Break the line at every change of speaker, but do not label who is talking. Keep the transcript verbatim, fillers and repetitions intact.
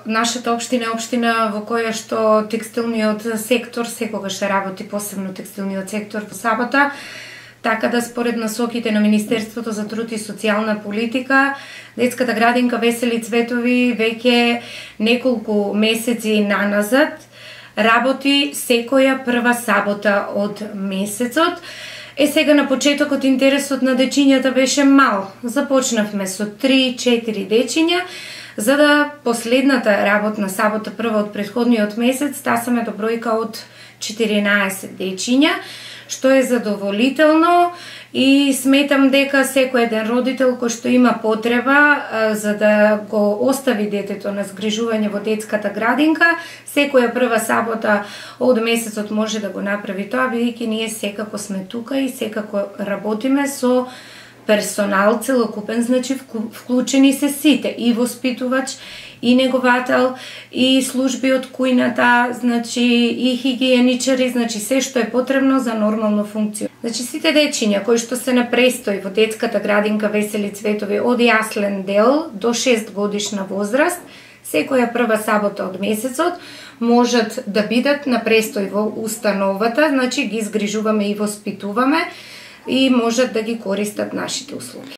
нашата општина е општина во која што текстилниот сектор секогаш работи, посебно текстилниот сектор во сабота, така да според насоките на Министерството за труд и социјална политика, детската градинка Весели цветови веќе неколку месеци наназад работи секоја прва сабота од месецот. Е, сега на почетокот интересот на дечињата беше мал. Започнавме со три-четири дечиња, за да последната работна сабота, прва од претходниот месец, стасаме до бројка од четиринаесет дечиња, што е задоволително и сметам дека секој еден родител кој што има потреба за да го остави детето на згрижување во детската градинка, секоја прва сабота од месецот може да го направи тоа, бидејќи ние секако сме тука и секако работиме со персонал целокупен, значи вклучени се сите, и воспитувач, и неговател, и служби од кујната, значи и хигиеничари, значи се што е потребно за нормално функција. Значи сите дечиња кои што се на престој во детската градинка Весели цветови од јаслен дел до шест годишна возраст, секоја прва сабота од месецот можат да бидат на престој во установата, значи ги згрижуваме и воспитуваме и можат да ги користат нашите услуги.